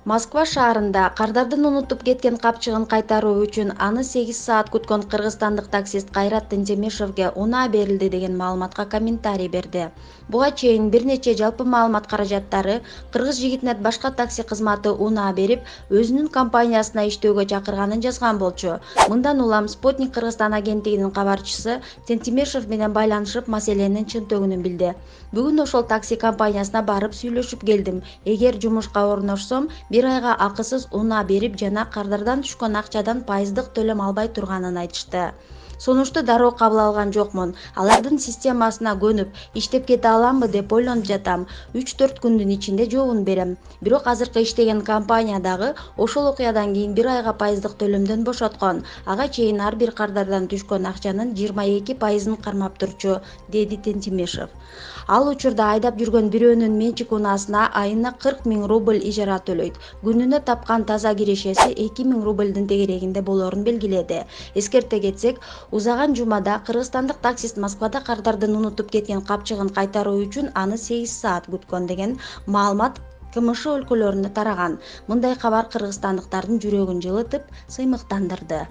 Москва шаарында кардардын унутуп кеткен капчыгын кайтаруу үчүн аны 8 саат күткөн кыргызстандык таксист Кайрат Тентемишевге унаа берилди деген маалыматка комментарий берди. Буга чейин бир нече жалпы маалымат каражаттары кыргыз жигитине башка такси кызматы унаа берип, өзүнүн компаниясына иштөөгө чакырганын жазган болчу. Мындан улам Спутник Кыргызстан агенттигинин кабарчысы Тентемишев менен байланышып, маселенин чынтөгүнүн билди. Бүгүн ошол такси компаниясына барып сүйлөшүп келдим. Эгер жумушка орношсом, бир айга акысыз унаа берип жана кардардан түшкөн акчадан пайыздык төлөм албай турганын айтышты. Сунушту дароо кабыл алган жокмун. Алардын системасына көнүп, иштеп кете аламбы деп ойлонуп жатам. 3-4 күндүн ичинде жообун берем. Бирок азыркы иштеген компания дагы ошол окуядан кийин бир айга пайыздык төлөмдөн бошоткон. Ага чейин ар бир кардардан түшкөн акчанын 22% кармап турчу, деди Тентемишев. Ал учурда айдап жүргөн бирөөнүн менчик унаасына айына 40 000 рубль ижара төлөйт. Күнүнө тапкан таза кирешеси 2 000 рубльдин тегерегинде болорун белгиледи. Эскерте кетсек, узаган жумада кыргызстандык таксист Москвада кардардын унутуп кеткен капчыгын кайтаруу үчүн аны 8 саат күткөн деген маалымат КМШ өлкөлөрүнө тараган. Мындай кабар кыргызстандыктардын жүрөгүн жылытып, сыймыктандырды.